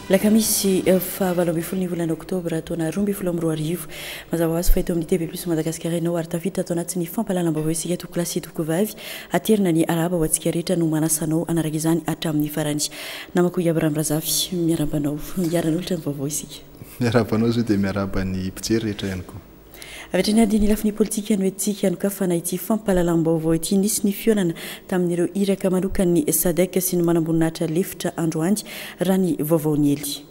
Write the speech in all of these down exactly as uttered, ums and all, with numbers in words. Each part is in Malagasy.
Alakamisy fahavalo ambin'ny folo ny volana oktobra taona roa ambin'ny folo amby roa arivo. Mazava ho azy fa eto amin'ny T V Plus Madagasikara ianao ary tafita atao anatin'ny fampahalalam-baovao isika, tompokolahy sy tompokovavy. Aterina ny arahaba ho antsika rehetra no manasanao anaraka izany hatramin'ny farany. Namako Iabraham Razafy, miarahaba anao, hiara-hanolotra ny vaovao isika. Miarahaba anao zao dia miarahaba ny mpijery rehetra ihany koa. Avy hatrany ady ny lafiny politika no etsika nokafana ity fampahalalam-baovao ity. Nisy ny fihaonana tamin'ireo iraka manokany SADC sy ny manamboninahitra lefitra androany, raha ny vaovao niely.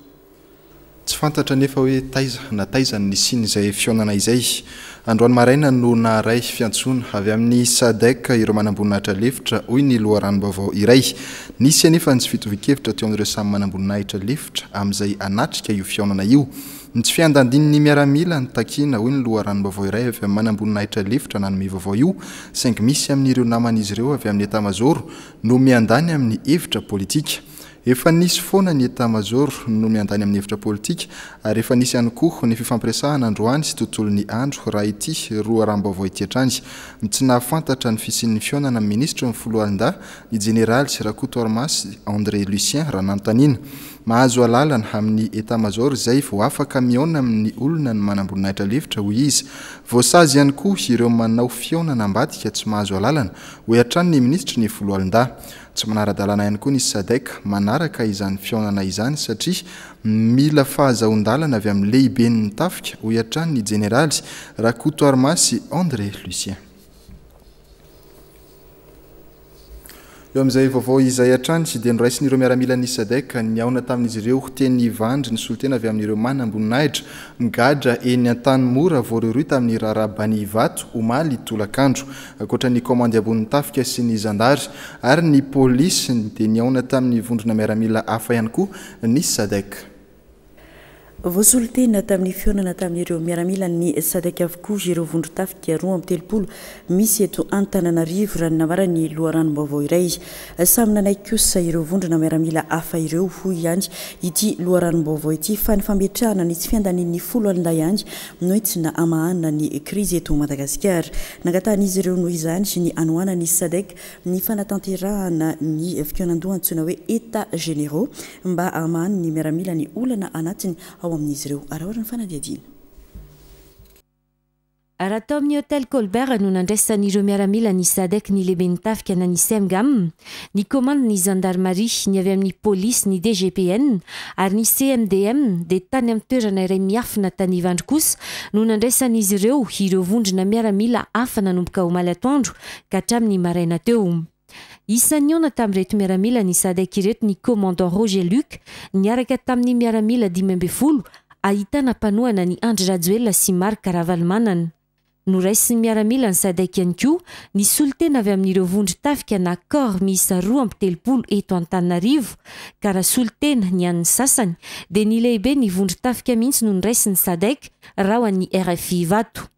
Tsy fantatra nefa hoe taiza na taiza ny nisian'izay fihaonana izay. Androany maraina no naharay fiantsoana avy amin'ny SADC ireo manamboninahitra lefitra, hoy ny loharanom-baovao iray. Nisy anefa ny tsy fitovi-kevitra teo amin'ireo samy manamboninahitra lefitra amin'izay anatrika io fihaonana io. Ny tsy fiandanian'ny miaramila ny takina, hoy ny loharanom-baovao iray avy amin'ny manamboninahitra lefitra nanome vaovao io, saingy misy amin'ireo naman'izy ireo avy amin'ny état-major no miandany amin'ny hevitra politika. Efa nisy foana ny état-major no miandany amin'ny hevitra politika ary efa nisy ihany koa ny fifampiresahana androany sy tontolo ny andro, raha ity loharanom-baovao ity hatrany. Tsy nahafantatra ny fisian'ny fihaonana amin'ny minisitry ny foloalindahy ny jeneraly Rakotoarimasy André Lucien raha nanontaniana. Mahazo alalana amin'ny état-major izay vao afaka mihaona amin'ny olona ny manamboninahitra lefitra, hoy izy. Voasazy ihany koa ireo manao fihaonana ambadika tsy mahazo alalana, hoy hatrany ny minisitry ny foloalindahy. Tsy manara-dalàna ihany koa ny SADC manaraka izany fihaonana izany satria mila fahazoan-dalana avy amin'ny lehiben'ny tafika, hoy hatrany ny jeneraly Rakotoarimasy André Lucien. Eo amin'izay vaovao izay hatrany dia noraisin'ireo miaramilan'ny SADC nihaona tamin'izy ireo teny Ivandry ny solontena avy amin'ireo manamboninahitra migadra eny Antanimora voarohirohy tamin'ny raharaha Bani Ivato omaly tolakandro. Ankoatra ny komandy ambonin'ny tafika sy ny zandary ary ny polisy dia nihaona tamin'ny vondrona miaramila hafa ihany koa ny SADC. Voasolotena tamin'ny fihaonana tamin'ireo miaramilan'ny SADC avokoa ireo vondron-tafika roa amby telopolo misy eto Antananarivo, raha ny nambaran'ny loharanom-baovao iray. Samy nanaiky kosa ireo vondrona miaramila hafa ireo, hoy ihany ity loharanom-baovao ity, fa ny fametrahana ny tsy fiandanian'ny foloalindahy ihany no entina hamahana ny krizy eto Madagasikara. Nangatahan'izy ireo noho izany ny hanohanan'ny SADC ny fanatanterahana ny fikaonandoha antsoina hoe états généraux mba hamahana ny miaramila ny olana anatiny ao amin'izy ireo. Araohatra ny fanadihadiana. Raha tao amin'ny hôtel Colbert no nandraisan'ireo miaramila ny SADC ny lehiben'ny tafika na ny SEMGAM, ny commande ny gendarmerie, ny avy amin'ny polisy, ny D G P N ary ny C M D M, dia tany amin'ny toerana iray miafina tany Ivandry kosa no nandraisan'izy ireo ireo vondrona miaramila hafa nanomboka omaly atoandro ka hatramin'ny maraina teo. Isan'ny nihaona tamin'ireto miaramila ny SADC ireto ny commandant Roger Luc niaraka tamin'ny miaramila dimy ambin'ny folo ahitana mpanohana ny Andry Rajoelina sy Marc Ravalomanana. Noraisin'ny miaramila ny SADC ihany koa ny solontena avy amin'ireo vondron-tafika na corps miisa roa amby telopolo eto Antananarivo, ka raha solontena ny an'ny sasany dia ny lehibe ny vondron-tafika mihitsy no noraisin'ny SADC raha ho an'ny R F I Ivato.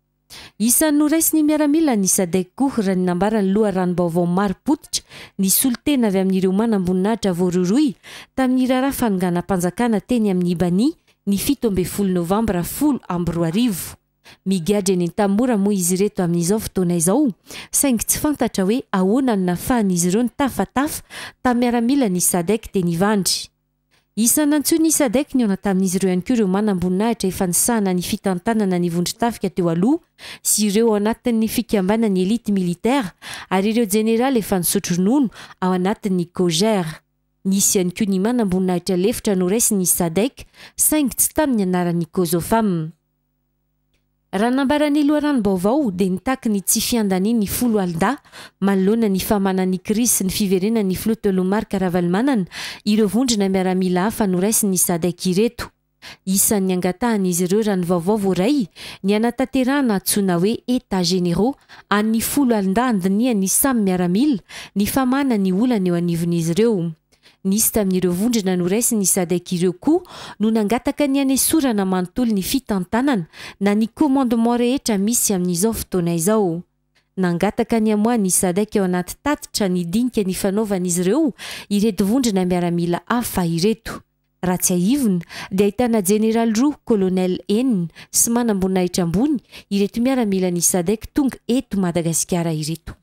Isan'ny noraisin'ny miaramila ny SADC koa, raha ny nambaran'ny loharanom-baovao marim-pototra, ny solontena avy amin'ireo manamboninahitra voarohirohy tamin'ny raharaha fanonganam-panjakana teny amin'ny Bani ny fito ambin'ny folo novambra folo amby roa arivo. Migadra eny Antanimora moa izy ireto amin'izao fotoana izao, saingy tsy fantatra hoe ahoana no nahafahan'izy ireo nitafatafa tamin'ny miaramila ny SADC teny Ivandry. Isan'ny nantsoin'ny SADC nihaona tamin'izy ireo ihany koa ireo manamboninahitra efa nisahana ny fitantanana ny vondron-tafika teo aloha sy ireo ao anatin'ny fikambanan'ny élite militaire ary ireo jeneraly efa nisotro ronono ao anatin'ny COJER. Nisy ihany koa ny manamboninahitra lefitra noraisin'ny SADC, saingy tsy tamin'ny anaran'ny COSOFAM. Raha nambaran'ny loharanom-baovao dia nitaky ny tsy fiandanian'ny foloalindahy manoloana ny famahana ny krizy sy ny fiverenan'ny filoha teo aloha Marc Ravalomanana ireo vondrona miaramila hafa noraisin'ny SADC ireto. Isan'ny angatahan'izy ireo, raha ny vaovao voaray, ny hanatanterahana antsoina hoe états généraux an'ny foloalindahy andinihan'ny samy miaramila ny famahana ny olana eo anivon'izy ireo. Nisy tamin'ireo vondrona noraisin'ny SADC ireo koa no nangataka ny hanesorana manontolo ny fitantanana na ny commandement rehetra misy amin'izao fotoana izao. Nangataka ny hamoahan'ny SADC ao anaty tatitra ny dinika ny fanaovan'izy ireo ireto vondrona miaramila hafa ireto. Raha tsiahivina dia ahitana jeneraly roa, colonel enina sy manamboninahitra ambony ireto miaramila ny SADC tonga eto Madagasikara ireto.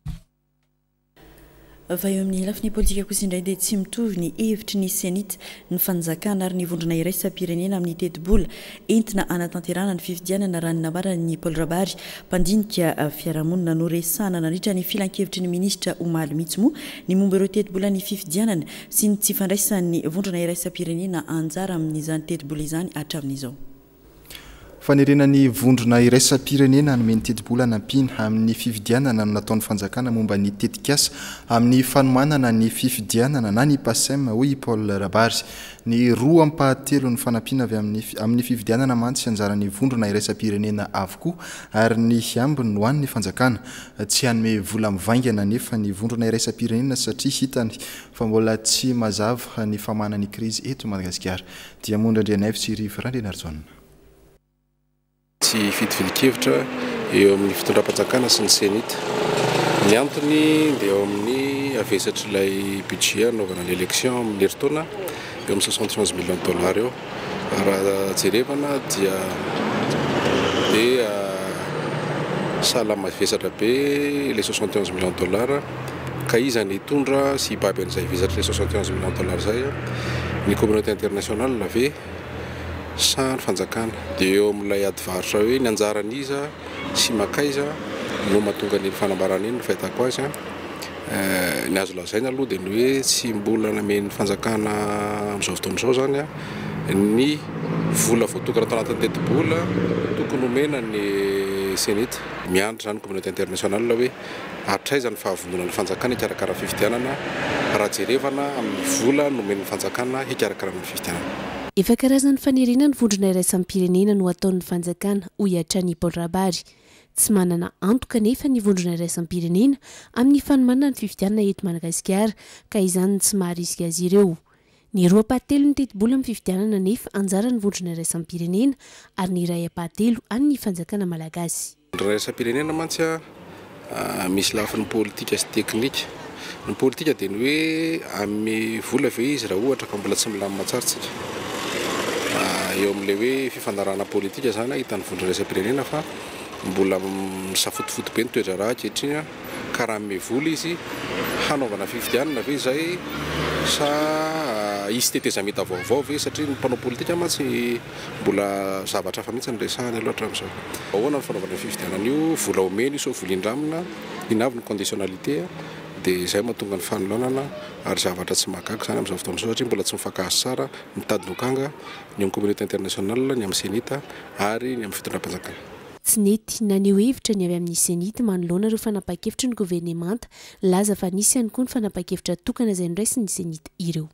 Fa eo amin'ny lafiny politika kosa indray dia tsy mitovy ny hevitry ny CENI-T, ny fanjakana ary ny vondrona iraisam-pirenena amin'ny tetibola entina anatanterahana ny fifidianana, raha ny nambaran'ny Paul Rabary, mpandinika fiarahamonina. Noresahana nandritra ny filankevitry ny ministra omaly mihitsy moa ny momba ireo tetibola ny fifidianana sy ny tsy fandraisan'ny vondrona iraisam-pirenena anjara amin'izany tetibola izany hatramin'izao. Fanerena ny vondrona iraisam-pirenena hanome ny tetibola nampiana amin'ny fifidianana no nataon'ny fanjakana momba ny tetikasa amin'ny fanomanana ny fifidianana na ny PACEM, hoy i Paul Rabary. Ny roa ampahatelo ny fanampiana avy amin'ny amin'ny fifidianana mantsy anjaran'ny vondrona iraisam-pirenena avokoa ary ny ambiny no an'ny fanjakana. Tsy hanome vola mivaingana nefa ny vondrona iraisam-pirenena satria hitany fa mbola tsy mazava ny famahana ny krizy eto Madagasikara. Diamondra Andrianaivo sy Rivo Randrianarijaona. Tsy fitovian-kevitra eo amin'ny fitondram-panjakana sy ny CENI-T. Ny antony dia eo amin'ny havesatr'ilay budget anaovana ny élection amin'ny herintaona, eo amin'ny soixante onze millions de dollars eo. Raha jerevana dia dia sahala mavesatra be le soixante onze millions de dollars, ka iza ny hitondra sy hibaby an'izay vesatr'ilay soixante onze millions de dollars zay? Ny communauté internationale ve sa ny fanjakana? Dia eo amin'ilay ady varotra hoe ny anjaran'iza sy makaiza no mahatonga ny fanambarana iny ny fahitako azy. Ny azo lazaina aloha dia ny hoe tsy mbola namen'ny fanjakana amin'izao fotoana izao zany a ny vola voatokana tao anatin'ny tetibola tokony omena ny CENI-T. Miandry zany communauté internationale hoe hatraiza ny fahavononan'ny fanjakana hikarakara fifidianana raha jerevana amin'ny vola nomen'ny fanjakana hikarakarana ny fifidianana. Efa karazan'ny fanerena ny vondrona iraisam-pirenena no ataon'ny fanjakana, hoy hatrany Paul Rabary. Tsy manana antoka nefa ny vondrona iraisam-pirenena amin'ny fanomanana ny fifidianana eto Madagasikara, ka izany tsy maharisika azy ireo. Ny roa ampahatelo ny tetibola amin'ny fifidianana nefa anjaran'ny vondrona iraisam-pirenena ary ny iray ampahatelo an'ny fanjakana malagasy. Vondrona iraisam-pirenena mantsy a misy lafiny politika sy teknika. Ny politika dia ny hoe hanome vola ve izy raha ohatra ka mbola tsy milamina tsara tsika. Eo amin'ilay hoe fifanarahana politika zany hitan'ny vondrona iraisam-pirenena fa mbola misafotofoto be ny toe-draharaha ankehitriny, ka raha hanome vola izy hanaovana fifidianana ve izay sa hisy tetezamita vaovao ve, satria ny mpanao politika mantsy mbola zavatra hafa mihitsy no resahany aloha hatramin'izao. Ahoana ny fanaovana fifidianana io? Vola omena io sao vola indramina? Inona avy ny conditionnalité? Dia izay mahatonga ny fanolanana ary zavatra tsy mahagaga izany amin'izao fotoana izao satria mbola tsy mifankahazo tsara mitady lokanga ny amin'ny communauté internationale, ny amin'ny CENI-T ary ny amin'ny fitondram-panjakana. Tsy nety naneho hevitra ny avy amin'ny CENI-T manoloana ireo fanapahan-kevitry ny governemanta, laza fa nisy ihany koa ny fanapahan-kevitra tokana izay noraisin'ny CENI-T ireo.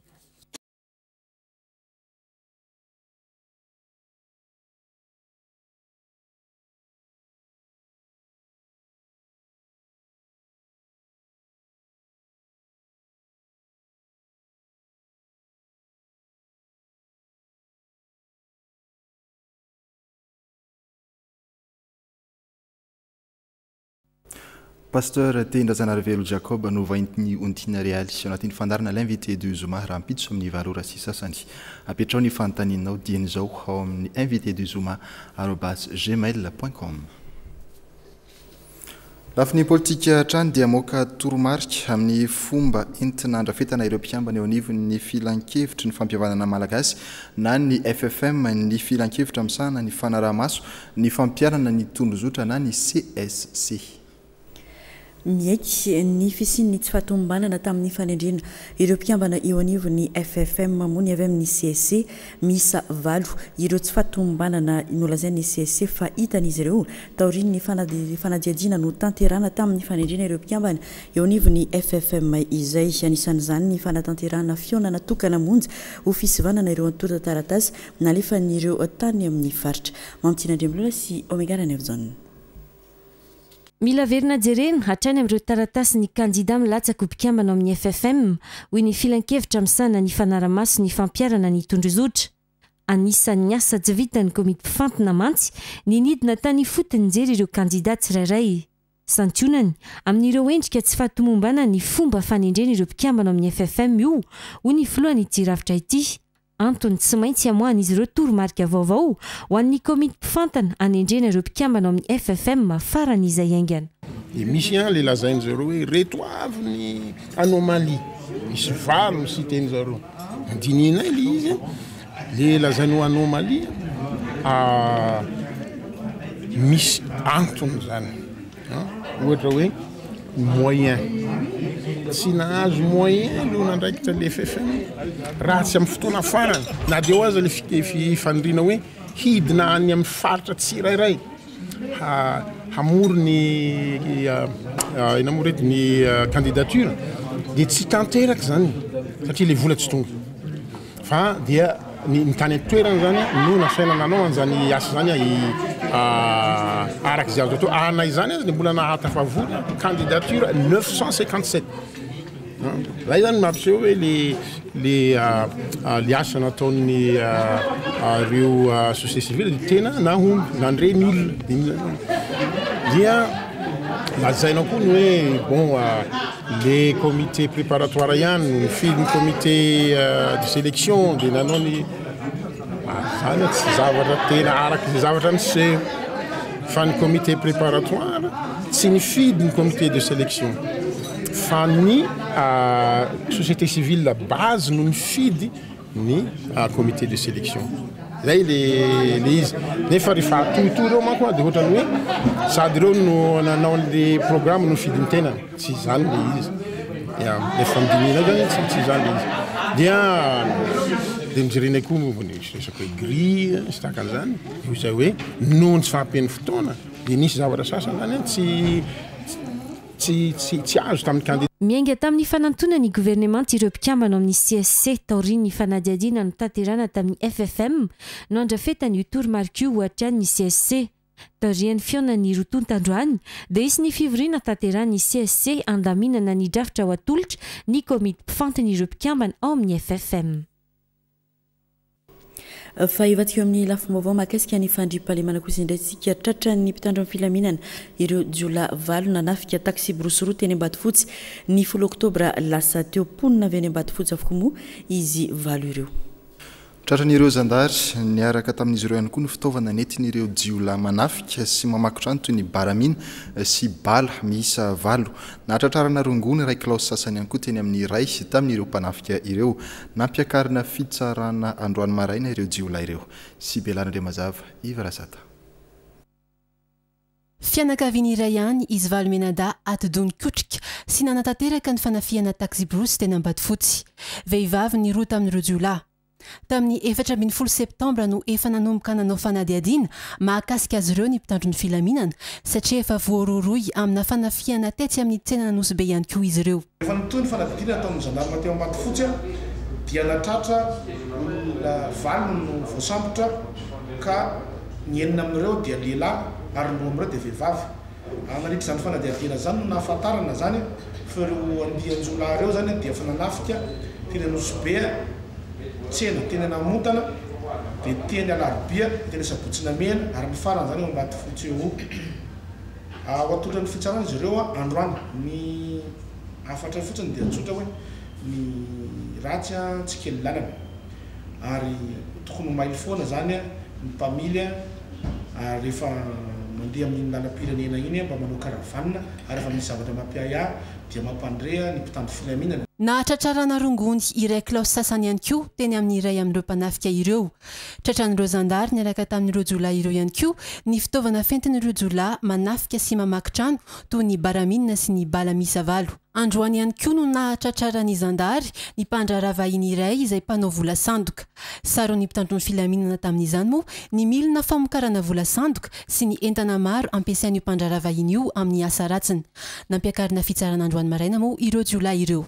Pasteur Tehindrazanarivelo Jacob no vahin'ny Ontiana Realy ao anatin'ny fandaharana l'invité du zoma rahampitso amin'ny valo ora sy sasany. Apetrao ny fanontanianao dieny izao ao amin'ny invité du zoma arobase gmail point com. Lafiny politika hatrany dia moka toromarika amin'ny fomba entina andrafetana ireo mpikambana eo anivon'ny filankevitry ny fampihavanana malagasy na ny F F M, ny filankevitra misahana ny fanaraha-maso, ny fampiharana ny tondrozotra na ny C S C. Miaiky ny fisian'ny tsy fahatomombanana tamin'ny fanendrena ireo mpikambana eo anivon'ny F F M moa ny avy amin'ny C S C. Miisa valo ireo tsy fahatomombanana nolazain'ny C S C fa hitan'izy ireo taorian'ny fanadi-, fanadihadiana no tanterahana tamin'ny fanendrena ireo mpikambana eo anivon'ny F F M izay. Anisan'izany ny fanatanterahana fihaonana tokana monja ho fisivanana ireo antontan-taratasy nalefan'ireo tany amin'ny faritra. Mampitina Andriambola sy Omega Ranaivojaona. Mila verina jerena hatrany amin'ireo taratasy ny kandida milatsaka ho mpikambana amin'ny F F M, hoy ny filankevitra misahana ny fanaramaso ny fampiharana ny tondrozotra. Anisan'ny asa tsy vitan'ny komity mpifantina mantsy ny nidina tany ifotony nijery ireo kandida tsirairay. Santionany amin'ireo endrika tsy fahatomombanana ny fomba fanendrena ireo mpikambana amin'ny F F M io, hoy ny filohan'ity rafitra ity. Antony tsy maintsy hamoahan'izy ireo toromarika vaovao ho an'ny komity mpifantana hanendrena ireo mpikambana amin'ny F F M farany izay haingana. De misy a le lazainy zareo hoe reto avy ny anomalie, misy valo ny citeny zareo, andininay le izy. Le lazainy ho anomalie misy antony zany, ohatra hoe moyen, tsy nahazo moyen lo nandraikitra le F F M raha tsy amy fotoana farany, na de eo aza le fifanindrina hoe hidina any amy faritra tsirairay hamory ny ina moa rety ny candidature, de tsy tanteraky zany satria le vola tsy tonga, fa dia ny tany antoerana zany no nasaina nanao an'zany asa zany araky zay azo atao anay zany azy de mbola nahatafavory candidature neuf cent cinquante sept. Zay zany mampiseho hoe le le le asa nataony reo société civile de tena nahomby, nandre ny olona. Dia lazainao koa ny hoe bon, le comité préparatoire ihany no nifidy ny comité de sélection de nanao ny zany. Tsy zavatra tena araky zay zavatra niseho, fa ny comité préparatoire tsy nifidy ny comité de sélection, fa ny société civile base no nifidy ny comité de sélection. Zay le le izy. Nefa rehefa atohitohy reo manko a, de ohatrany hoe sady reo no nanao an'le programme no fidiny tena, tsy zany le izy. Efa midinina zany, tsy tsy zany le izy. Dia de mijerenay koa ny resaky hoe grille sy tahaka an'izany io, zay hoe noho ny tsy fahampian'ny fotoana de nisy zavatra sasany zany tsy tsy tsy tsy azo tamin'ny candidat. Miainga tamin'ny fanantonany governemanta ireo mpikambana amin'ny C S C taorian'ny fanadihadiana no tanterana tamin'ny F F M no andrafetany io toromarika io ohatra ny C S C. Taorian'ny fihaonan'ny roa tonta androany dia isy ny fivoriana tanterany C S C andaminana ny drafitra ho atolotra ny komity mpifantina ireo mpikambana ao amin'ny F F M. Fa ivadika eo amin'ny lafim-baovao mahakasika ny fandriampahalemana kosa indray tsika. Tratra ny mpitandro amin'ny filaminana ireo jiolahy valo nanafika taxi brousse roa teny Ambatofotsy ny folo oktobra lasa teo. Mponina avy any Ambatofotsy avokoa moa izy valo ireo. Tratran'ireo zandary niaraka tamin'izy ireo ihany koa ny fitaovana nentin'ireo jiolahy manafika sy mamaky trano, toy ny baramina sy bala miisa valo. Nahatratrarana rongony iray kilao sasany ihany koa teny amin'ny iray tamin'ireo mpanafika ireo. Nampiakarina fitsarana androany maraina ireo jiolahy ireo sy belanandre mazava ivarasata. Fianakaviany iray ihany izy valo mianadahy atidoha nikotrika sy nanatanteraka ny fanafihana taxi-brousse teny Ambatofotsy. Vehivavy ny roa tamin'ireo jiolahy. Tamin'ny efatra ambin'ny folo septambra no efa nanomboka nanao fanadihadiana mahakasika azy ireo ny mpitandro ny filaminana, satria efa voarohirohy amina fanafihana tetsy amin'ny tsenan'Anosibe be ihany koa izy ireo. Efa nitohy ny fanadihadiana ataon'ny zandarma teo Ambatofotsy a, dia natratra olona valo no voasambotra, ka ny enina amin'ireo dia lehilahy ary ny roa amin'ireo dia vehivavy. Nandritra izany fanadihadiana zany no nahafantarana zany fa ireo andian-jiolahy ireo zany dia efa nanafika teny Anosibe tsena, teny Namontana, dia teny Alarobia, teny Sabotsy Namehana, ary ny farany zany eo Ambatofotsy eo. Ho atolotra ny fitsarana izy ireo a androany. Ny hafatra fotsiny dia tsotra hoe ny ratsy a tsy kely lalana, ary tokony ho mailo foana zany a ny mpamily a, ary rehefa mandeha amin'iny lalam-pirenena iny mba manao caravane, ary rehefa misy zavatra mampiahiahy dia mampandre ny mpitandro filaminana. Nahatratrarana rongony iray kilao sasany ihany koa teny amin'ny iray amin'ireo mpanafika ireo. Tratran'ireo zandary niaraka tamin'ireo jiolahy ireo ihany koa ny fitaovana fentin'ireo jiolahy manafika sy mamaky trano, toy ny baraminina sy ny bala miisa valo. Androany ihany koa no nahatratraran'ny zandary ny mpandraharaha vahiny iray izay mpanao vola sandoka. Saron'ny mpitandro ny filaminana tamin'izany moa ny milina famokarana vola sandoka sy ny entana maro ampiasain'io mpandraharaha vahiny io amin'ny asa ratsiny. Nampiakarina fitsarana androany maraina moa ireo jiolahy ireo.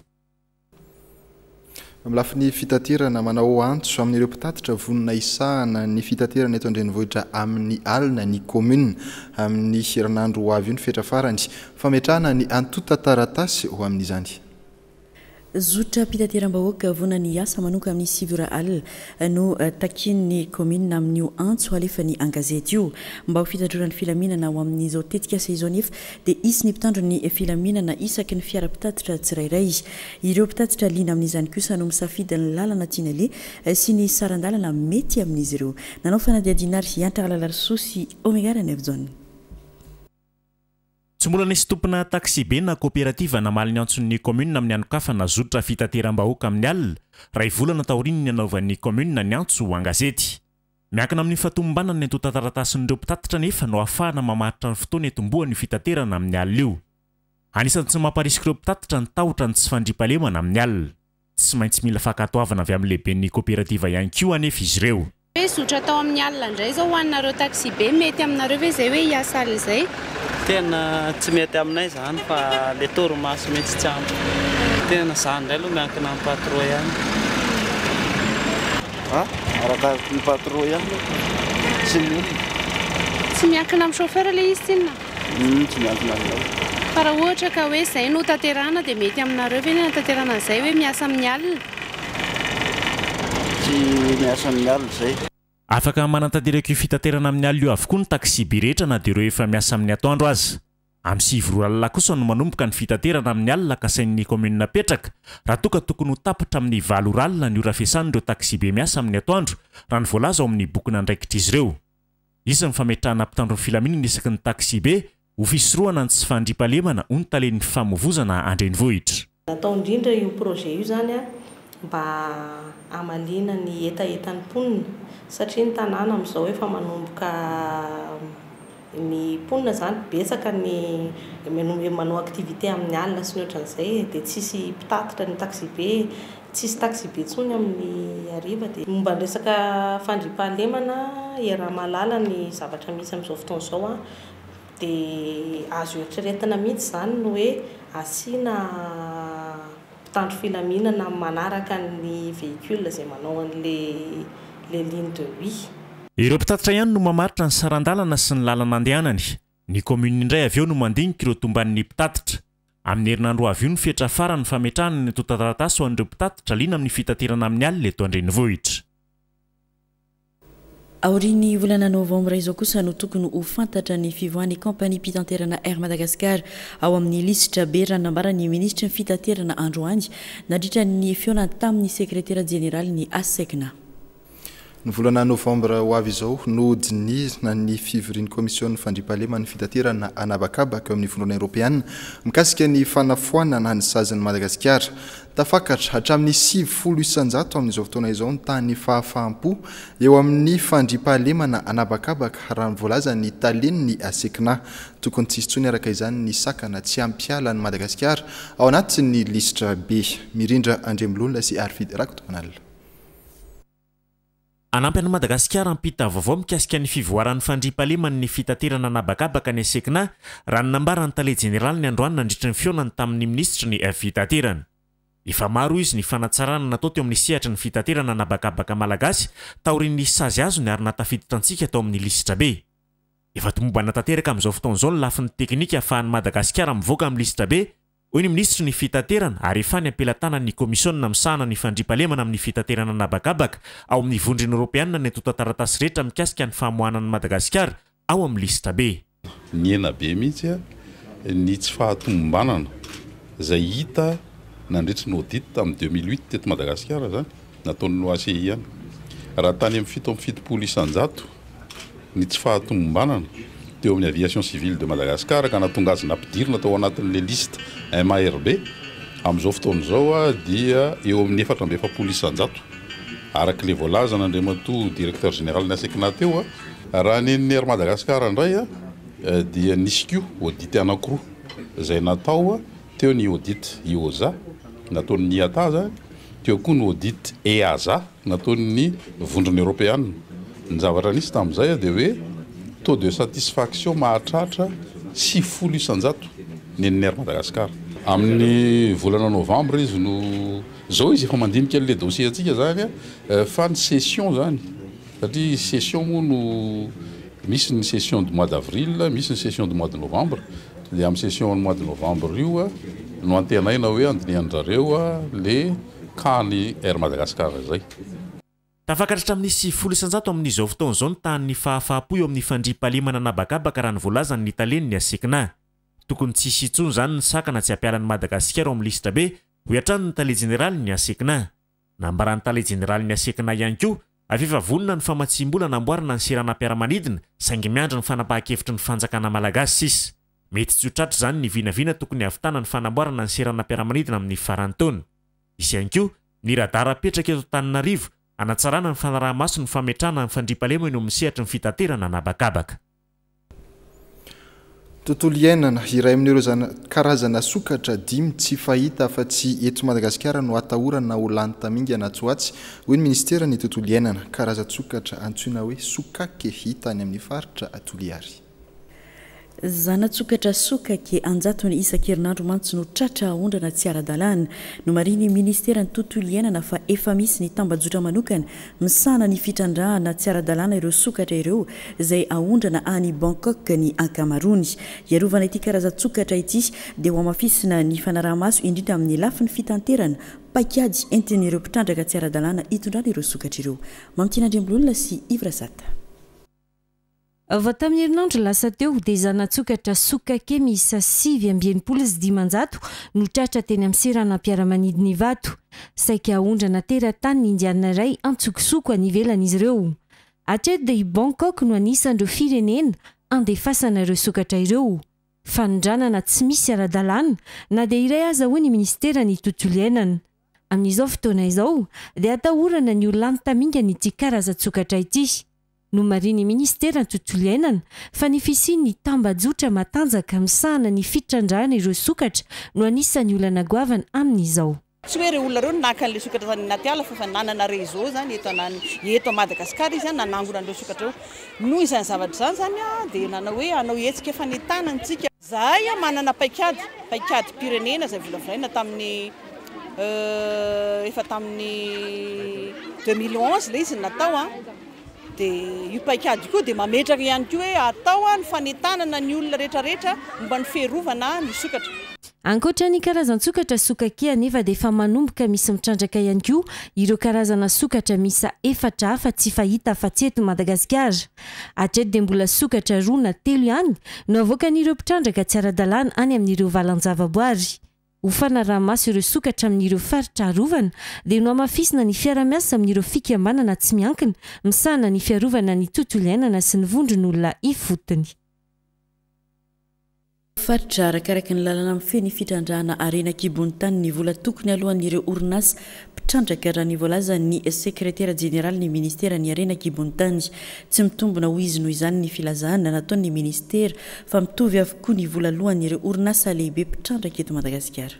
Amin'ny lafiny fitaterana, manao antso amin'ireo mpitatitra vonona hisahana ny fitaterana eto an-drenivohitra amin'ny alina ny commune. Amin'ny herinandro ho avy io ny fetra farany fametrahana ny antontan-taratasy ho amin'izany. Zotra mpitateram-bahoaka vonona ny asa manomboka amin'ny sivy ora alina no takin'ny commune amin'io antso alefany an-gazety io, mba ho fitandroana ny filaminana. Ho amin'izao tetikasa izao nefa dia isy ny mpitandro ny filaminana isaky ny fiara mpitatitra tsirairay. Ireo mpitatitra liana amin'izany kosa no misafidy ny lalana tiana aleha sy ny saran-dalana mety amin'izy ireo. Nanao fanadihadiana ary Hiantra Ralalarisoa sy Omega Ranevjaona. Tsy mbola nisy tompona taxi-be na coopérative namaly ny antson'ny commune amin'ny hanokafana zotra fitateram-bahoaka amin'ny alina, iray volana taorian'ny nanaovan'ny commune ny antso ho an-gazety. Miankina amin'ny fahatomombanana ny antontan-taratasin'ireo mpitatitra nefa no ahafahana mamaritra ny fotoana hitomboan'io fitaterana amin'ny alina io. Anisan'ny tsy mamparisika ireo mpitatitra ny tahotra ny tsy fandriampahalemana amin'ny alina. Tsy maintsy mila fankatoavana avy amin'ny lehiben'ny coopérative ihany koa anefa izy ireo. Hoe zotra atao amin'ny alina indray izao ho anareo taxi-be, mety aminareo ve izay hoe hiasa alina izay? Tena tsy mety aminay izany fa le torimaso mihitsy tsy ampy. Tena izany indray aloha miankina amin'ny patron ihany. Ah, arakaraka ny patron ihany sy ny olona. Tsy miankina amin'ny chauffeur ilay izy tsinona? Mm, tsy miankina aminao. Fa raha ohatra ka hoe izay no tanterahana dia mety aminareo ve ny hanatanterahana an'izay hoe miasa amin'ny alina? Tsy miasa amin'ny alina izay. Afaka manatanteraka io fitaterana amin'ny alina io avokoa ny taxi-be rehetra na dia ireo efa miasa amin'ny atoandro aza. Amin'ny sivy ora alina kosa no manomboka ny fitaterana amin'ny alina kasain'ny commune apetraka, raha toa ka tokony ho tapitra amin'ny valo ora alina ny ora fiasan'ireo taxi-be miasa amin'ny atoandro, raha ny voalaza ao amin'ny bokin'andraikitr'izy ireo. Hisy ny fametrahana mpitandro ny filaminana isaky ny taxi-be ho fisorohana ny tsy fandriampahalemana hoy ny talen'ny famoivozana an-drenivohitra. Natao indrindra io projet io zany a mba hamaliana ny hetahetan'ny mponina, satria ny tanàna amin'izao efa manomboka ny mponina zany betsaka ny manao activité amin'ny alina sy ny ohatran'izay, dia tsisy mpitatitra ny taxi-be, tsisy taxi-be intsony amin'ny hariva. Dia momba ny resaka fandriampahalemana, iaraha-mahalala ny zavatra misy amin'izao fotoana izao a, dia azo eritreretina mihitsy izany ny hoe asiana mpitandro filaminana manaraka ny véhicule izay manao an'le le ligne de nuit. Ireo mpitatitra ihany no mamaritra ny saran-dalana sy ny lalana andehanany. Ny commune indray avy eo no mandinika ireo tomban'ny mpitatitra. Amin'ny herinandro avy io ny fetra farany fametrahana ny antontan-taratasy ho an'ireo mpitatitra liana amin'ny fitaterana amin'ny alina eto an-drenivohitra. Aorian'ny volana novambra izao kosa no tokony ho fantatra ny fivoahan'ny kaompania mpitaterana Air Madagascar ao amin'ny lisitra B, raha nambaran'ny minisitry ny fitaterana androany nandritra ny fihaonana tamin'ny sekretera jeneralin'ny ASECNA. Ny volana novambra ho avy izao no dinihina ny fivorian'ny komision'ny fandriampahaleman'ny fitaterana an'habakabaka eo amin'ny Vondrona Eoropeana mikasika ny fanafoanana ny sazin'i Madagasikara. Tafakatra hatramin'ny sivifolo isanjato amin'izao fotoana izao ny tahan'ny fahafaham-po eo amin'ny fandriampahalemana an'habakabaka, raha ny voalazan'ny talen'ny ASECNA. Tokony tsy hisy intsony araka izany ny sakana tsy hampiala an'i Madagasikara ao anatin'ny lisitra B. Mirindra Andriamilolona sy Arfidy Rakotomanalina. Hanampy an'i Madagasikara hampita vaovao mikasika ny fivoaran'ny fandriampahaleman'ny fitaterana an'habakabaka ny ASECNA, raha ny nambaran'ny tale jeneraliny androany nandritra ny fihaonany tamin'ny minisitry ny fitaterana. Efa maro izy ny fanatsarana natao teo amin'ny sehatry ny fitaterana an'habakabaka malagasy taorian'ny sazy azony ary nahatafiditra antsika tao amin'ny lisitra B. Efa tomombana tanteraka amin'izao fotoana izao ny lafiny teknika ahafahan'i Madagasikara mivoaka amin'ny lisitra B, hoy ny minisitry ny fitaterana, ary efa any am-pelatanan'ny komisiona misahana ny fandriampahalemana amin'ny fitaterana an'habakabaka ao amin'ny Vondrona Eoropeana ny antontan-taratasy rehetra mikasika ny famoahana an'i Madagasikara ao amin'ny lisitra B. Nihena be mihitsy ny tsy fahatomombanana izay hita nandritry ny audit tamin'ny deux mille huit teto Madagasikara zany nataon'ny O A C I ihany. Raha tany amin'ny fito amby fitopolo isanjato ny tsy fahatomombanana teo amin'ny aviation civile de Madagascar ka nahatonga azy nampidirina tao anatin'le liste M A R B, amin'izao fotoana izao a dia eo amin'ny efatra amby efapolo isanjato araka le voalazan'Andriamatoa directeur général ny ASECNA teo a. Raha ny an'ny Air Madagascar indray a dia nisy koa audit anankiroa izay natao a, teo ny audit I O S A nataon'ny I A T A zany, teo koa ny audit E A S A nataon'ny Vondrona Eoropeana. Ny zavatra nisy tamin'izay dia hoe taux de satisfaction mahatratra sivifolo isanjato ny an'ny Air Madagascar. Amin'ny volana novambra izy no zao izy efa mandinika an'le dossier antsika zany a, fa ny session zany, satria session moa no misy ny session du mois d'avril, misy ny session du mois de novembre, dia amin'ny session du mois de novembre io a no antenaina hoe andinihan-drareo a le cas-ny Air Madagascar zay. Tafakatra hatramin'ny sivifolo isanjato amin'izao fotoana izao ny tahan'ny fahafaham-po eo amin'ny fandriampahalemana an'habakabaka raha ny voalazan'ny talen'ny ASECNA. Tokony tsy hisy intsony izany ny sakana tsy hampiala an'i Madagasikara ao amin'ny lisitra B, hoy hatrany ny tale jeneralin'ny ASECNA. Nambaran'ny tale jeneralin'ny ASECNA ihany koa avy efa vonona ny famatsiam-bola namboarana ny seranam-piaramanidina, saingy miandry ny fanapahan-kevitry ny fanjakana malagasy sisa. Mety tsy ho tratra izany ny vinavina tokony hahavitana ny fanamboarana ny seranam-piaramanidina amin'ny faran'ny taona. Hisy ihany koa ny radara apetraka eto Antananarivo hanatsarana ny fanaraha-maso ny fametrahana ny fandriampahalemana eo amin'ny sehatry ny fitaterana an'habakabaka. Tontolo iainana, iray amin'ireo zana karazana sokatra dimy tsy fahita afa-tsy eto Madagasikara no atahorana ho lany tamingana atsy ho atsy, hoy ny ministeran'ny tontolo iainana. Karazan-tsokatra antsoina hoe sokake hita any amin'ny faritra Toliary. Zana-tsokatra sokake anjatony isan-kerinandro mantsy no tratra aondrana tsy ara-dalàna. Nomarihin'ny ministeran'ny tontolo iainana fa efa misy ny tambajotra manokana misahana ny fitrandrahana tsy ara-dalàna ireo sokatra ireo izay aondrana any Bangkok ny ankamaroany. Hiarovana ity karazan-tsokatra ity dia ho hamafisina ny fanaraha-maso indrindra amin'ny lafiny fitanterana paikady entin'ireo mpitrandraka tsy ara-dalàna hitondrana ireo sokatra ireo. Mamitiana Andriambololona sy Yves Razata. Vao tamin'ny herinandro lasa teo dia zana-tsokatra sokake miisa sivy amby enimpolo sy dimanjato no tratra teny amin'ny seranam-piaramanidina Ivato. Saika aondrana teratany indianina iray antsokosoko any ivelany izy ireo. Hatreto dia i Bangkok no anisan'ireo firenena andefasana ireo sokatra ireo. Fanondranana tsy misy ara-dalàna na dia iray aza hoy ny ministeran'ny tontolo iainana. Amin'izao fotoana izao dia atahorana ny ho lany tamingana ity karazan-tsokatra ity. Nomarihin'ny ministeran'ny tontolo iainana fa ny fisian'ny tambajotra matanjaka misahana ny fitrandrahana ireo sokatra no anisan'ny olana goavana amin'izao. Tsy hoe ireo olona ireo no naka an'ilay sokatra tany anaty ala fa efa nanana réseau zany eto anany, eto Madagasikara izy nanangona an'ireo sokatra ireo. Noho izany zavatra izany zany a, dia nanao hoe hanao hetsika fanentanana antsika. Zahay a manana paikady, paikady-pirenena izay volavolaina tamin'ny, euh, efa tamin'ny deux mille onze ilay izy natao a. Dia io paikady io koa dia mametraka ihany koa hoe atao a ny fanentanana ny olona rehetrarehetra momba ny fiarovana ny sokatra. Ankoatra ny karazan-tsokatra sokake anefa dia efa manomboka misy mitrandraka ihany koa ireo karazana sokatra miisa efatra hafa tsy fahita afa-tsy eto Madagasikara. Hatreto dia mbola sokatra roa na telo ihany no avoakan'ireo mpitrandraka tsy ara-dalàna any amin'ireo valan-javaboary. Ho fanaraha-maso ireo sokatra amin'ireo faritra arovana dia nohamafisina ny fiarahamiasa amin'ireo fikambanana tsy miankina misahana ny fiarovana ny tontolo iainana sy ny vondron'olona ifotony. Faritra arakaraka ny lalana mifehy ny fitrandrahana harena an-kibon'ny tany ny vola tokony alohan'ireo orinasa mpitrandraka raha ny voalazan'ny sekretera jeneraly ny ministeran'ny harena an-kibon'ny tany. Tsy mitombina hoy izy noho izany ny filazana nataon'ny ministera fa mitovy avokoa ny vola alohan'ireo orinasa lehibe mpitrandraka eto Madagasikara.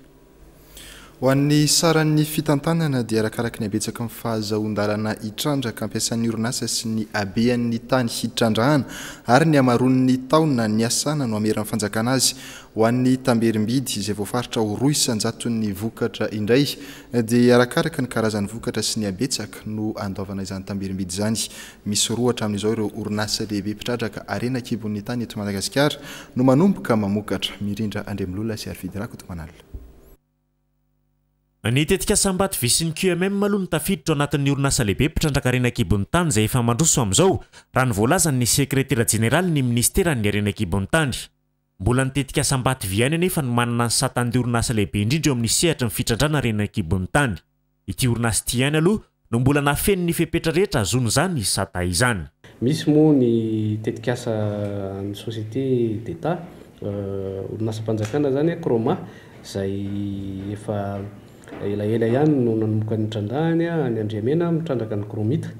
Ho an'ny saran'ny fitantanana dia arakaraka ny habetsaky ny fahazoan-dalana hitrandraka ampiasan'ny orinasa sy ny habean'ny tany hitrandrahana ary ny hamaroan'ny taona niasana no hameran'ny fanjakana azy. Ho an'ny tamberim-bidy izay voafaritra ho roa isan-jaton'ny vokatra indray dia arakaraka ny karazan'ny vokatra sy ny habetsaka no andoavana izany tamberim-bidy izany. Misy roa hatramin'izao ireo orinasa lehibe mpitrandraka harena an-kibon'ny tany eto Madagasikara no manomboka mamokatra. Mirindra Andriamilolona sy Arvidy Rakotomanala. Ny tetikasa Ambatovy sy ny Q M M aloha no tafiditra ao anatin'ny orinasa lehibe mpitrandraka harena an-kibon'ny tany izay efa mandroso amin'izao raha ny voalazan'ny sekretera jeneraly ny ministeran'ny harena an-kibon'ny tany. Mbola ny tetikasa Ambatovy ihany anefa no manana ny satan'ny orinasa lehibe indrindra eo amin'ny sehatry ny fitrandrahana harena an-kibon'ny tany. Ity orinasa ity ihany aloha no mbola nahafeno ny fepetra rehetra ahazoana izany sata izany. Misy moa ny tetikasa ny société d'État, euh, orinasam-panjakana zany, Chroma, izay efa elaela ihany no nanomboka ny trandrahany any Andriamena mitrandraka ny chromite.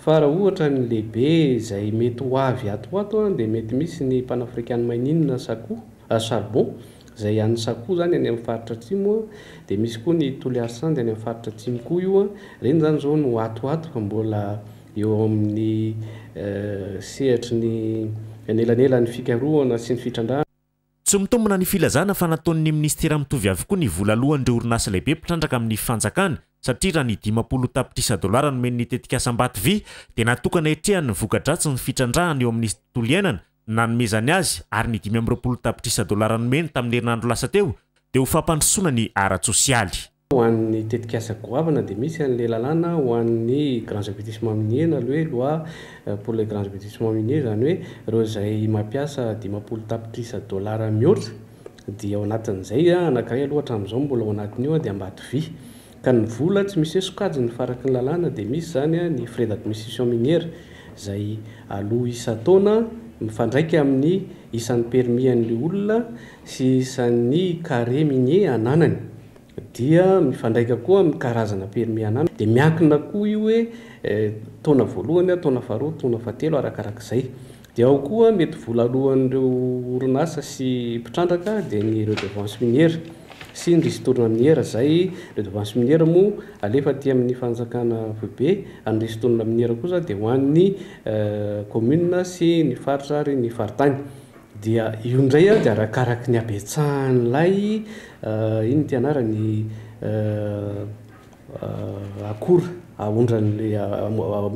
Fa raha ohatra ny lehibe izay mety ho avy ato ho ato dia mety misy ny Pan-African Mining na Sakoa, ah, charbon, izay any Sakoa zany any amin'ny faritra atsimo, dia misy koa ny Toliary Sand any amin'ny faritra atsimo koa io. Ireny zany zao no ato ho ato fa mbola eo amin'ny, eh, sehatry ny anelanelan'ny fikarohana sy ny fitrandrahana. Tsy mitombina ny filazana fa nataon'ny ministera mitovy avokoa ny vola alohan'ireo orinasa lehibe mpitrandraka amin'ny fanjakana, satria raha ny dimampolo tapitrisa dolara nomen'ny tetikasa Ambatovy dia natokana hiatrehany ny voka-dratsy ny fitrandrahana eo amin'ny tontolo iainana nanomezany azy, ary ny dimy amby roapolo tapitrisa dolara nomeny tamin'ny herinandro lasa teo dia ho fampandrosoana ny ara-tsosialy. Ho an'ny tetikasa goavana dia misy an'ilay lalàna ho an'ny grands investissements miniers na le hoe loi pour les grands investissements miniers, izany hoe ireo izay mampiasa dimampolo tapitrisa dolara mihoatra dia ao anatin'izay, anankiray aloha hatramin'izao mbola ao anatin'io dia Ambatovy. Ka ny vola tsy misy hoe sokajiny fa araka ny lalàna dia misy izany ny frais d'administration minière izay aloha isan-taona Mifandraika amin'ny isan'ny permis an'ilay olona sy isan'ny carré minier ananany, dia mifandraika koa amin'ny karazana permis ananany, dia miankina koa io hoe taona voalohany, taona faharoa, taona fahatelo, arakarak'izay. Dia ao koa mety vola alohan'ireo orinasa sy mpitrandraka, dia ny redevance minière sy ny ristourne minière. Zay redevance minière moa alefa aty amin'ny fanjakana foibe, ny ristourne minière kosa dia ho an'ny commune sy ny faritra ary ny faritany. Dia io indray a dia arakaraky ny habetsahan'ilay ino ty anarany akora aondran'le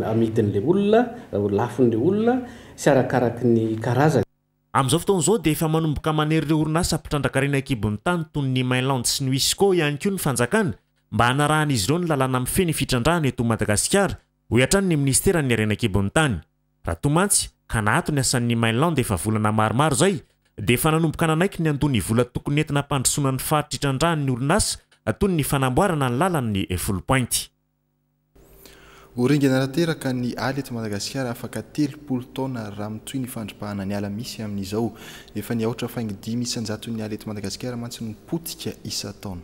amidin'le olona, lafon'le olona sy arakaraky ny karazany. Amin'izao fotoana izao dia efa manomboka manery ireo orinasa mpitrandraka harena an-kibon'ny tany toy ny Mainland sy ny Wisco ihany koa ny fanjakana mba hanarahan'izy ireo ny lalàna mifehy ny fitrandrahana eto Madagasikara, hoy hatrany ny ministeran'ny harena an-kibon'ny tany. Raha toa mantsy ka naato ny asan'ny Mainland efa volana maromaro izay, dia efa nanomboka nanaiky ny handoa ny vola tokony entina hampandrosoana ny faritra itrandrahan'ny orinasa toy ny fanamboarana ny lalan'ny Foulpointe. Ho ringana tanteraka ny ala eto Madagasikara afaka telopolo taona raha mitohy ny fandripahana ny ala misy amin'izao. Efa niaotra faingo dimy isan-jaton'ny ala eto Madagasikara mantsy no potika isan-taona.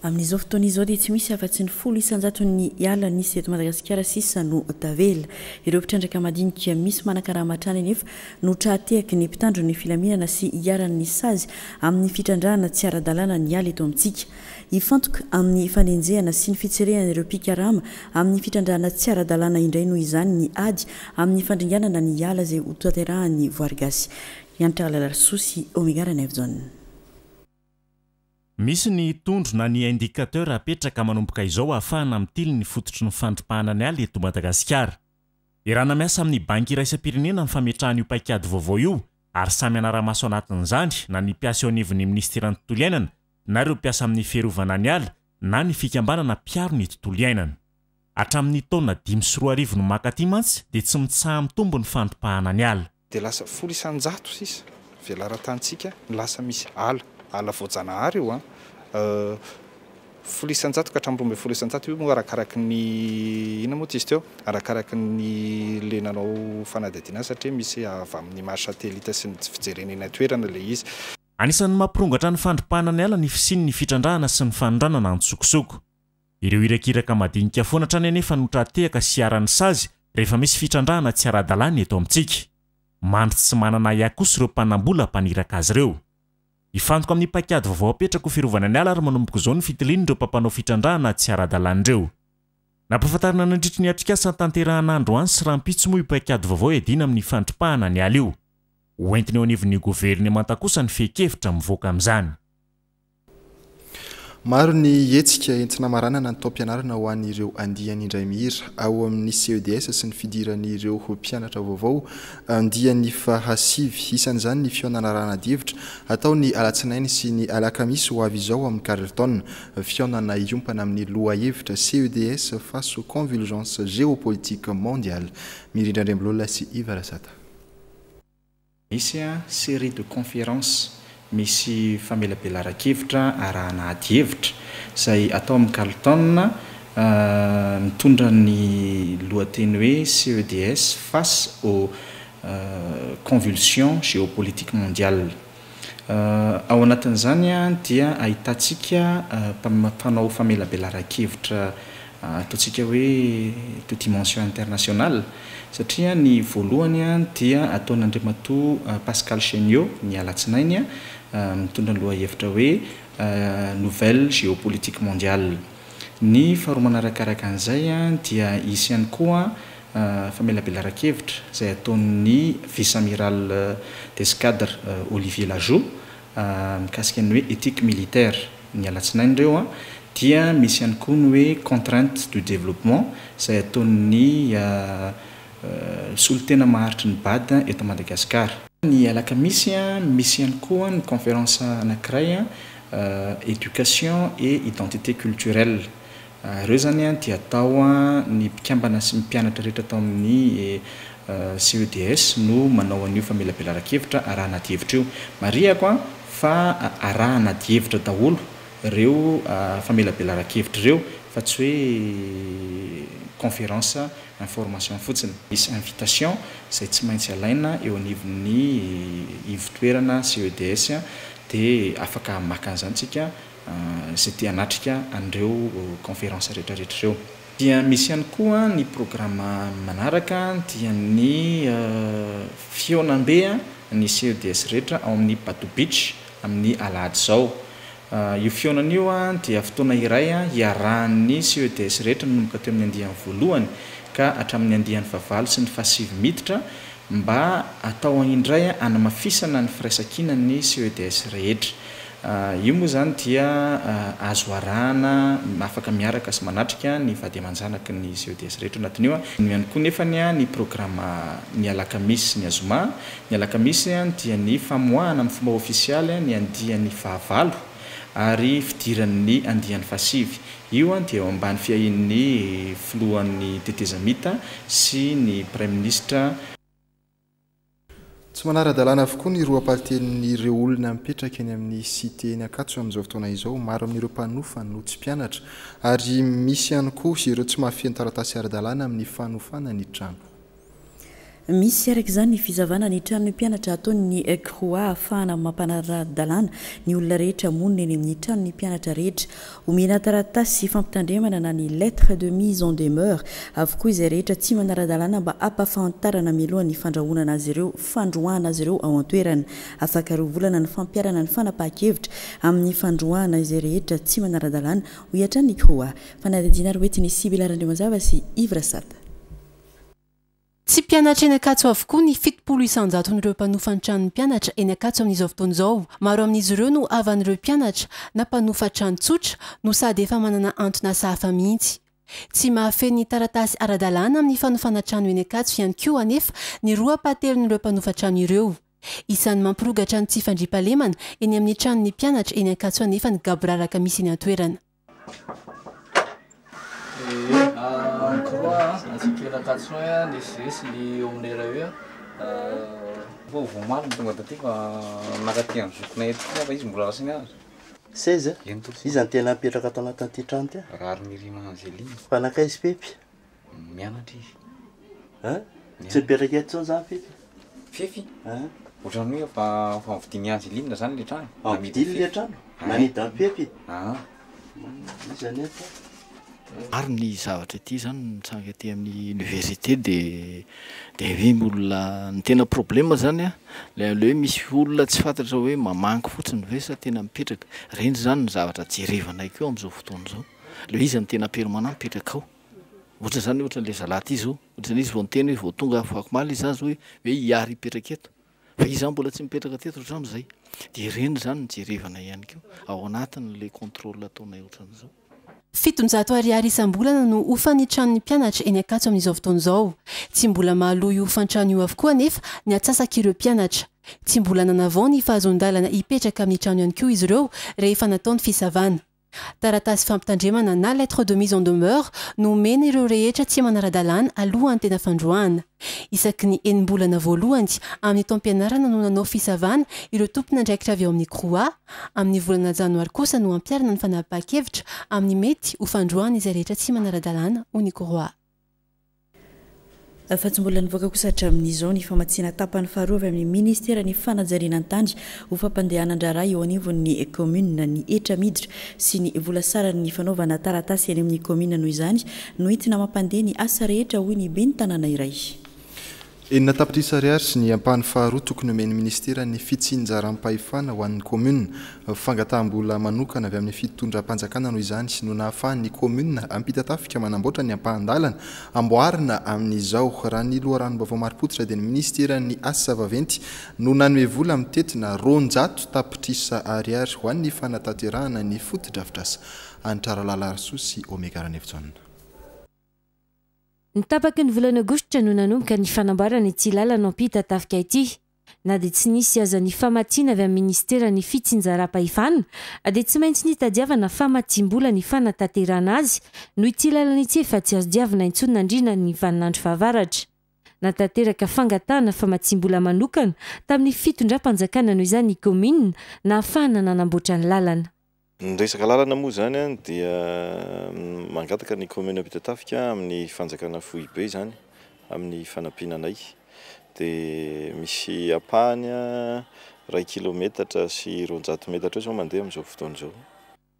Amin'izao fotoana izao dia tsy misy afa-tsy ny folo isan-jaton'ny ala nisy eto Madagasikara sisa no tavela. Ireo mpitrandraka madinika misy manakarama hatrany anefa no tra-tehaky ny mpitandro ny filaminana sy iharan'ny sazy amin'ny fitrandrahana tsy ara-dalàna ny ala eto amintsika. Hifantoka amin'ny fanenjehana sy ny fitserehana ireo mpikarama amin'ny fitrandrahana tsy ara-dalàna indray noho izany ny ady amin'ny fandringanana ny ala izay ho tanterahan'ny Voary Gasy. Hanitra Lalarisoa sy Omega Ranaivojaona. Misy ny tondro na ny indicateur apetraka manomboka izao ahafahana mitily ny fototry ny fandripahana ny ala eto Madagasikara. Iarahana miasa amin'ny banky iraisam-pirenena ny fametrahana io paikady vaovao io ary samy anara-maso anatin'izany na ny mpiasa eo anivon'ny ministeran'ny tontolo iainana na ireo mpiasa amin'ny fiarovana ny ala na ny fikambanana mpiaro ny tontolo iainana. Hatramin'ny taona dimy sy roa arivo no makaty mantsy dia tsy mitsaha-mitombo ny fandripahana ny ala. Dia lasa folo isan-jato sisa velaran-tanintsika no lasa misy ala, ala voajanahary io a. Folo isan-jato ka hatramin'ny roa ambin'ny folo isan-jato io moa arakaraky ny inona moa izy teo, arakaraky ny le nanao fanadihadiana satria misy avy amin'ny image satellite sy ny fijerena eny an-toerana ilay izy. Anisan'ny mampirongatra ny fandripahana ny ala ny fisian'ny fitrandrahana sy ny fanondranana an-tsokosoko. Ireo irakiraka madinika foana hatrany anefa no tra-tehaka sy iharan'ny sazy rehefa misy fitrandrahana tsy ara-dalàna eto amintsika. Mandry tsy manana ahiahy kosa ireo mpanambola mpaniraka azy ireo. Hifantoka amin'ny paikady vaovao apetraka ho fiarovana ny ala ary manomboka izao ny fitilian'ireo mpampanao fitrandrahana tsy ara-dalàna ireo. Nampahafantarina nandritry ny atrikasa tanterahana androany sy rahampitso moa io paikady vaovao iadiana amin'ny fandripahana ny ala io. Hoentina eo anivon'ny governemanta kosa ny fehin-kevitra mivoaka amin'izany. Maro ny hetsika entina maranana ny taom-pianarana ho an'ireo andiany indray mihira ao amin'ny C E D S sy ny fidiran'ireo mpianatra vaovao andiany fahasivy. Isan'izany ny fihaonana arahana-adihevitra atao ny alatsinainy sy ny alakamisy ho avy izao amin'ny Carlton. Fihaonana iompana amin'ny lohahevitra C E D S face aux convulsions géopolitiques mondiales. Mirindra Andriambololona sy Yves Rasata. Misy série de conférences, misy famelabelaran-kevitra arahana adihevitra izay atao amin'ny Carlton, mitondra ny lohateny hoe C E D S face aux convulsions géopolitiques mondiales. Ao anatin'izany dia ahitantsika mpanao famelabelaran-kevitra ataontsika hoe de dimension internationale, satria ny voalohany dia ataon'Andriamatoa Pascal Chéniaud ny alatsinainy mitondra ny lohahevitra hoe nouvelle géopolitique mondiale. Ny faharoa manarakaraka an'izay dia hisy ihany koa famelabelaran-kevitra izay ataon'ny vice-amiral d'escadre Olivier Lajoux mikasika ny hoe éthique militaire ny alatsinainy ireo. Dia misy ihany koa ny hoe contrainte du développement izay ataon'ny solontena maharitry ny B A D eto Madagasikara. Ny alakamisy misy ihany koa ny conférence anankiray éducation et identité culturelle. Ireo zany dia atao ny mpikambana sy ny mpianatra rehetra atao amin'ny C E D S no manao an'io famelabelaran-kevitra arahana adihevitra io. Marihako fa arahana adihevitra daholo ireo famelabelaran-kevitra ireo fa tsy hoe Conférence information fotsiny. Misy invitation izay tsy maintsy alaina eo anivon'ny ivotoerana C E D S, dia afaka maka an'izany tsika izay te hanatrika an'ireo conférence rehetrarehetra ireo. Dia misy ihany koa ny programme manaraka, dia ny fihaonambe ny C E D S rehetra ao amin'ny Bato Beach amin'ny alahady izao. Io fihaonana io a dia fotoana iray a hiarahan'ny C E D S rehetra nanomboka teo amin'ny andiany voalohany ka hatramin'ny andiany fahavalo sy ny fahasivy miditra, mba atao indray anamafisana ny firaisankina ny C E D S rehetra. Io moa zany dia azo arahana, afaka miaraka sy manatrika ny vady aman-janaky ny C E D S rehetra anatin'io. A no ihany koa nefany a ny programme ny alakamisy sy ny azoma. Ny alakamisy a dia ny famoahana amin'ny fomba ofisialy ny andiany fahavalo ary fidiran'ny andiany fahasivy. Io a dia eo ambany fiahian'ny filohan'ny tetezamita sy ny premier ministre. Tsy manara-dalàna avokoa ny roa ampahatelon'ireo olona mipetraka eny amin'ny cité eny Ankatso amin'izao fotoana izao. Maro amin'ireo mpanofa no tsy mpianatra, ary misy ihany koa ireo tsy mahafeno taratasy ara-dalàna amin'ny fanofana ny trano. Misy araka izany ny fisavana ny tranon'ny mpianatra ataon'ny C R O A, ahafahana mampanara-dalàna ny olona rehetra monina eny amin'ny tranon'ny mpianatra rehetra. Omena taratasy fampitandremana na ny lettre de mise en demeure avokoa izay rehetra tsy manara-dalàna, mba hampafantarana mialohan'ny fandrahonana azy ireo, fandroahana azy ireo ao an-toerana. Afaka roa volana ny fampiharana ny fanapaha-kevitra amin'ny fandroahana izay rehetra tsy manara-dalàna, hoy hatrany ny C R O A. Fanadihadiana ary hoentin'ny Sibila Randriamazava sy Ivrasata. Tsy mpianatra eny Ankatso avokoa ny fitopolo isan-jaton'ireo mpanofa ny tranon'ny mpianatra eny Ankatso amin'izao fotoana izao. Maro amin'izy ireo no havan'ireo mpianatra na mpanofa trano tsotra no sady efa manana anton'asa hafa mihitsy. Tsy mahafeno ny taratasy ara-dalàna amin'ny fanofana trano eny Ankatso ihany koa anefa ny roa ampahatelon'ireo mpanofa trano ireo. Isan'ny mampirongatra ny tsy fandriampahalemana eny amin'ny tranon'ny mpianatra eny Ankatso anefa ny gaboraraka misy eny an-toerana. C R O A antsika Ankatso ny S G sy ny eo amin'ny R E fa vao omaly no tonga taty, fa nakaty amin'ny zokinay eto fa izy mbola lasa nianatra. Seize. Eny tompoko. Iza ny tena mipetraka ato anatin'ity trano ty? Raharinirina Angeline. Fa nankaiza Fefy? Mianatra izy. An? Tsy mipetraka eto intsony zany Fefy? Fefy? An? Ohatran'ny hoe fa fa mividian'i Angeline zany le trano. Mividy le trano? Namidy an'i Fefy? Ah. Iza ny eto? Maro ny zavatra ity zany mitsanga aty amin'ny université, de de hoe olona ny tena problème zany a le le hoe misy olona tsy fantatra hoe mamangy fotsiny ve sa tena mipetraka. Reny zany ny zavatra jerevanay koa am'izao fotoana izao, le izy ny tena permanent mipetraka ao. Ohatra zany, ohatra n'le zalahy ty zao, ohatrany izy vao niteny hoe vao tonga afakomaly izy zany zao hoe hoe hiary hipetraka eto, fa izy zany mbola tsy mipetraka teto hatramin'izay. De reny zany ny jerevana ihany koa ao anatin'le contrôle ataonay ohatran'izao. Fitonjato ariary isam-bolana no hofan'ny tranon'ny mpianatra eny Ankatso amin'izao fotoana izao. Tsy mbola mahaloa io hofan-trano io avokoa anefa ny atsasak'ireo mpianatra. Tsy mbola nanavao ny fahazoan-dalana hipetraka amin'ny trano ihany koa izy ireo rehefa natao ny fisavana. Taratasy fampitandremana na lettre de mise en demeure no omena ireo rehetra tsy manara-dalàna alohan'ny tena fandroahana. Isaky ny enim-bolana voalohany amin'ny taom-pianarana no nanao fisavana ireo tompon'andraikitra avy ao amin'ny C R O A. Amin'ny volana janoary kosa no ampiharina ny fanapahan-kevitra amin'ny mety ho fandroahana izay rehetra tsy manara-dalàna, hoy ny C R O A. Fa tsy mbola nivoaka kosa hatramin'izao ny famatsiana tapany faharoa avy amin'ny ministera ny fanajariana ny tany ho fampandehanan-draharaha eo anivon'ny commune. Ny hetra miditra sy ny vola saran'ny fanaovana taratasy any amin'ny commune noho izany no entina mampandeha ny asa rehetra, hoy ny ben'ny tanàna iray. Enina tapitrisa ariary sy ny ampahany faharoa tokony omen'ny ministera ny fitsinjaram-pahefana ho an'ny commune. Fangataham-bola manokana avy amin'ny fitondram-panjakana noho izany no nahafahan'ny commune Ampitatafika manamboatra ny ampahan-dalana amboarina amin'izao. Raha ny loharanom-baovao marim-pototra, dia ny ministeran'ny asa vaventy no nanome vola mitentina roanjato tapitrisa ariary ho an'ny fanatanterahana ny fotodrafitrasa. Antraralala Rasoa sy Omega Ranevjaona. Ny tapaky ny volana aogositra no nanomboka ny fanamboarana ity lalana Ampitatafika ity. Na dia tsy nisy aza ny famatsiana avy amin'ny ministera ny fitsinjaram-pahefana, dia tsy maintsy nitadiavana famatsiam-bola ny fanatanterahana azy, noho ity lalana ity efa tsy azo diavina intsony nandritra ny vaninandro fahavaratra. Natanteraka fangatahana famatsiam-bola manokana tamin'ny fitondram-panjakana noho izany ny commune nahafahana nanamboatra ny lalana. Ny resaka lalana moa zany dia mangataka ny commune Ampitatafika amin'ny fanjakana foibe izany amin'ny fanampiana anay, dia misy ampahany iray kilometatra sy roanjato metatra eo izao mandeha amin'izao fotoana izao.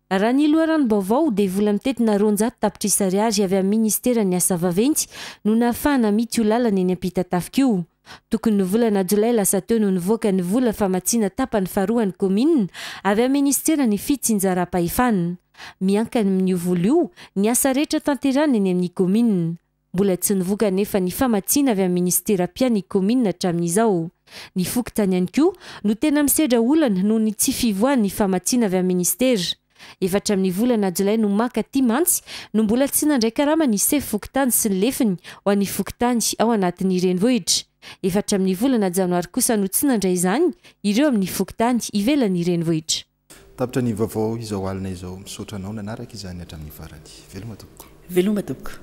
Raha ny loharanom-baovao dia vola mitentina roanjato tapitrisa ariary avy amin'ny ministeran'ny asa vaventy no nahafahana mity io lalana eny Ampitatafika io. Tokony ny volana jolay lasa teo no nivoaka ny vola famatsiana tapany faharoan'ny kaominina avy amin'ny ministeran'ny fitsinjaram-pahefana. Miankina amin'io vola io ny asa rehetra tanterahina eny amin'ny kaominina. Mbola tsy nivoaka nefa ny famatsiana avy amin'ny ministera mpiahy ny kaominina hatramin'izao. Ny fokontany ihany koa no tena misedra olana noho ny tsy fivoahan'ny famatsiana avy amin'ny ministera. Efa hatramin'ny volana jolay no maka aty mantsy no mbola tsy nandray karama ny sefo fokontany sy ny lefiny ho an'ny fokontany ao anatin'ny renivohitra. Efa hatramin'ny volana janoary kosa no tsy nandray izany ireo amin'ny fokontany ivelan'ny renivohitra. Tapitra ny vaovao izao alina izao. Misaotra anao nanaraka izany hatramin'ny farany. Veloma tompoko. Veloma tompoko.